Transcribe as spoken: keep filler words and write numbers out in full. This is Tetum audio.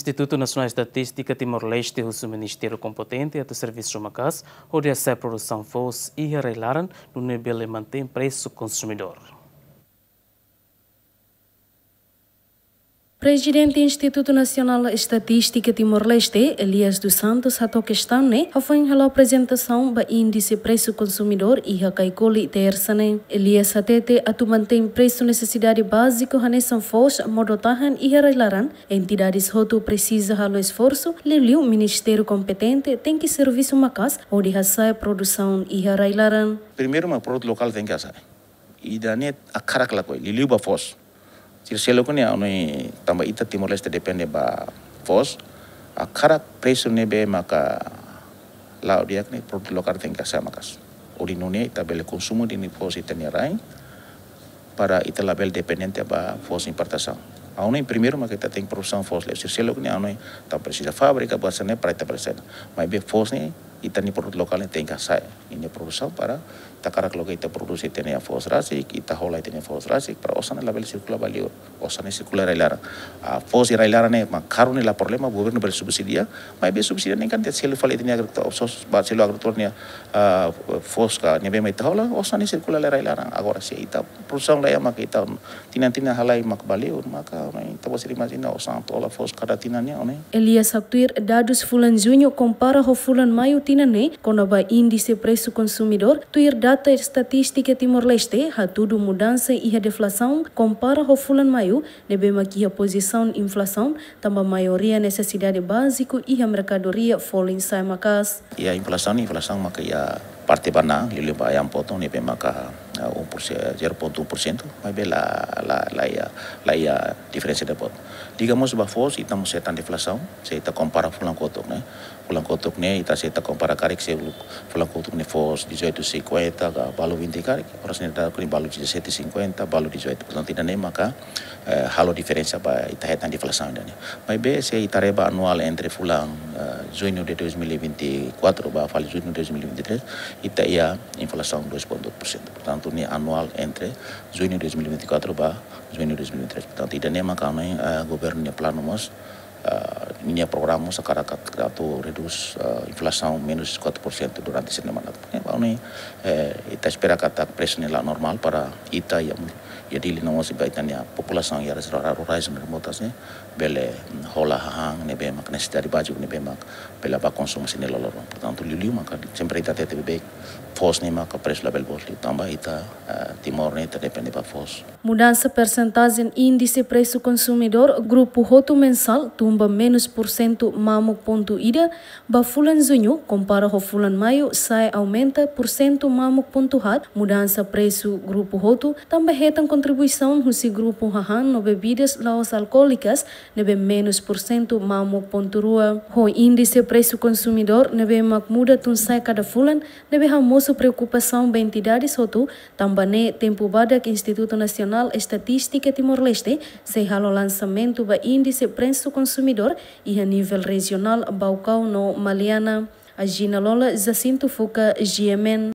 Institutu Nasionál Estatístika Timor-Leste husu ministériu kompetente atu servisu maka'as hodi hasa'e produsaun foos iha rai-laran, nune'e bele mantein presu konsumidór. Prezidente Institutu Nasionál Estatístika Timor-Leste, Elias dos Santos, hato'o kestaun ne'e hafoin halo aprezentasaun ba índise presu konsumidór iha Kaikoli, tersa ne'e. Elias hatete atu mantein presu nesesidade báziku hanesan foos modo tahan iha rai-laran, entidades hotu presiza halo esforsu, liuliu ministériu kompetente tenke servisu maka'as hodi hasa'e produsaun iha rai-laran. Primeiru mak produtu lokál tenke hasa'e. Ida-ne'e hakarak lakohi, liuliu ba foos. Sira seluk ne'e, ha'u hanoin tanba ita Timor-Leste depende ba foos. Hakarak presu ne'ebé maka la'o di'ak ne'e produtu lokál tenke hasa'e maka'as. Hodi nune'e ita bele konsumu ida-ne'e foos ita-nia rai, para ita labele dependente ba foos importasaun. Ha'u hanoin primeiru mak ita tenke produsaun foos liu. Sira seluk ne'e, ha'u hanoin ita presiza fábrika, buat sira-ne'e para ita presiza. Maibé foos ne'e, ita-nia produtu lokál ne'e tenke hasa'e ninia produsaun para ita hakarak loke ita prodús ita-nia foos rasik, ita hola ita-nia foos rasik, para osan ne'e labele sirkula ba liur, osan ne'e sirkula rai-laran. Ah, foos iha rai-laran ne'e mak karik ne'e la problema, governu bele subsidia, maibé subsidia ne'e kan ita selu fali ita-nia agrikultór, foos ba selu agrikultór nia, ah, foos ka ne'ebé mak ita hola, osan ne'e sirkula lai rai-laran. Agora se ita produsaun laiha mak ita tinan-tinan halai mak ba liur, maka ne'e ita bosiri imajina osan atu hola foos kada tinan ne'e, ne'e. Elias haktuir dadus fulan Juñu kompara ho fulan Maiu tinan ne'e, kona-ba índise presu konsumidór, tuir data estatístika Timor-Leste hatudu mudansa iha deflasaun kompara ho fulan Maiu, ne'ebé mak iha pozisaun inflasaun, tanba maioria nesesidade báziku iha merkadoria folin sa'e maka'as. Iha inflasaun, inflasaun maka iha parte ba na'an, liuliu ba ayam potong ne'ebé maka, ah, um por cento, zero ponto um por cento, maibé la, la, la iha, la iha diferensa ida boot. Liga mós ba foos, ita mós hetan deflasaun, se ita kompara fulan kotuk ne'e. Fulan kotuk ne'e, ita se ita kompara karik, se fulan kotuk ne'e foos dezoito cinquenta, ka balu vinte karik, oras ne'e daudaun balu dezassete cinquenta, balu dezoito. Portantu, ida-ne'e maka, eh, halo diferensa ba ita hetan deflasaun ida-ne'e. Maibé se ita haree ba anuál entre fulan, eh, Juñu de dois mil e vinte e quatro ba fali Juñu de dois mil e vinte e três, ita iha inflasaun dois ponto oito por cento. Portantu, ne'e anuál entre Juñu dois mil e vinte e quatro ba Juñu dois mil e vinte e três. Portantu, ida-ne'e maka ha'u hanoin, eh, governu nia planu mós, eh, nia programa mós hakarak atu redús, eh, inflasaun menus quatro por cento durante sira-nia mandatu. Eh, ha'u hanoin, eh, ita espera katak presu ne'e la'o normál para ita iha, iha Dili no mós ba ita-nia populasaun iha áreas rura-, rurais no remotas ne'e bele, mm, hola hahán ne'ebé mak nesesidade báziku ne'ebé mak bele ba konsumu sira-nia loroloron. Portantu, liuliu maka sempre ita hatete beibeik, foos ne'e maka presu labele boot liu tanba ita, eh, Timor ne'e ita depende ba foos. Mudansa persentajen índise presu konsumidór grupu hotu mensál tun ba menus porsentu mamuk pontu ida ba fulan Juñu, kompara ho fulan Maiu, sa'e aumenta porsentu mamuk pontu haat. Mudansa presu grupu hotu tanba hetan kontribuisaun husi grupu hahán no bebidas la'ós alkoólikas, ne'ebé menus porsentu mamuk pontu rua. Ho índise presu konsumidór ne'ebé mak muda tun sa'e kada fulan, ne'ebé hamosu preokupasaun ba entidades hotu, tanba ne'e tempu badak Institutu Nasionál Estatístika Timor-Leste sei halo lansamentu ba índise presu konsumidór iha nivel rejionál Baucau no Maliana. Agina Lola, Jacinto Fuca, G M N.